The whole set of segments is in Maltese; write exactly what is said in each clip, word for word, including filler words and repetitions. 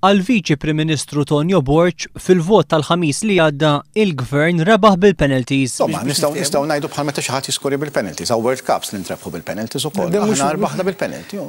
Għall-Viċi Prim Ministru Tonio Borg, fil-vot tal-Ħamis li għadda, il-Gvern rebaħ bil-penalties. Insomma, nistgħu nistgħu ngħidu bħal meta xi ħadd jiskorja bil-penalties, hawn World Cups li ntrebħu bil-penalties ukoll. Aħna rbaħna bil-penalty.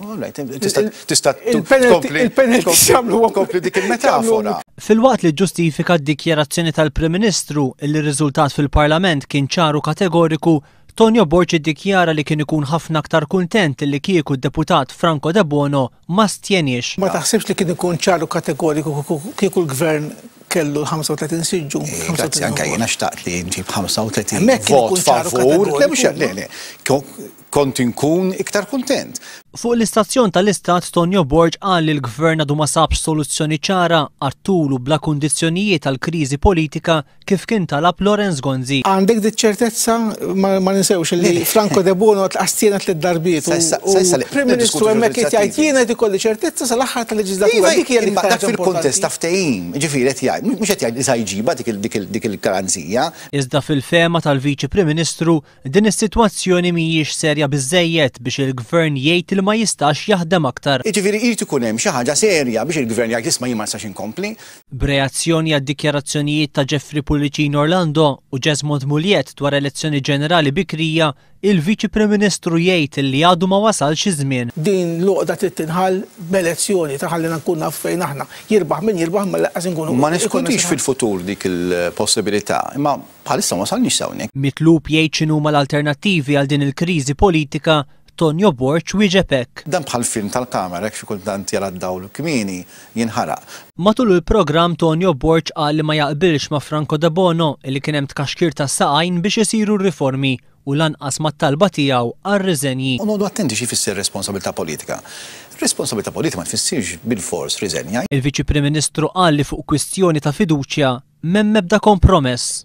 Tista' Il-penalties jagħmlu tkompli dik il-metafora. Filwaqt li ġustifika d-dikjarazzjoni tal-Prim Ministru li r-riżultat fil-Parlament kien ċar u kategoriku, Tonio Borg iddikjara li kien ikun ħafna aktar kuntent li kieku d-deputat Franco Debono ma stjeniex. Ma taħsibx li kien ikun ċar u kategoriku kieku l-gvern kellu l-ħamsa u tletin siġġu? Grazzi, anke jiena xtaqt li nġib ħamsa u tletin Hemmhekk kien vot ikun ċar u favur. Le, mhux kategoriku. Le, le. Kont inkun iktar kuntent. Fuq l-istazzjon tal-Istat, Tonio Borg qal li l-gvern għadu ma sabx soluzzjoni ċara għat-tul u bla kundizzjonijiet għal kriżi politika kif kien talab Lawrence Gonzi. Għandek di ċertezza, ma ma ninsewx li Franco Debono astjena tliet darbiet. Sa issa- sa issa li- Prim Ministru niddiskutu hemmhekk qed jgħid leġislattivi. jiena qed ikolli ċertezza sal-aħħar tal-leġislatura. Iva, Dik hija imma l-iktar dak fil-kontest importanti. ta' ftehim, ġifieri qed jgħid, mhux qed jgħid li sa jġibha dik il- dik il- dik il-garanzija. Iżda fil-fehma tal-Viċi Prim Ministru, din is-sitwazzjoni mhijiex serja biżejjed biex il-gvern jgħid li ma jistax jaħdem aktar. Jiġifieri irid ikun hemm xi ħaġa serja biex il-gvern jgħid, "Isma', jien ma nistax inkompli." B'reazzjoni għad-dikjarazzjonijiet ta' Jeffrey Pullicino Orlando u Jesmond Mugliett dwar elezzjoni ġenerali bikrija, il-Viċi Prim Ministru jgħid li għadu ma wasalx iż-żmien. Din l-għoqda trid tinħall b'elezzjoni ta' ħallina nkun naf fejn aħna. Jirbaħ min jirbaħ, ma lanqas inkunu. Ma neskludix fil-futur dik il-possibilità, imma bħalissa ma wasalniex hawnhekk. Mitlub jgħid x'inhuma l-alternattivi għal din il-kriżi politika, Tonio Borg wieġeb hekk. Dan bħal film tal-kamera, hekk xi kultant jara d-dawl kmieni jinħaraq. Matul il-programm, Tonio Borg qal li ma jaqbilx ma' Franco Debono li kien hemm tkaxkir ta' saqajn biex isiru riformi u lanqas mat-talba tiegħu għar-riżenji. U noqogħdu attenti xi jfisser responsabilità politika. Responsabilità politika ma tfissirx bil-fors riżenja. Il-Viċi Prim Ministru qal li fuq kwistjoni ta' fiduċja m'hemm ebda kompromess.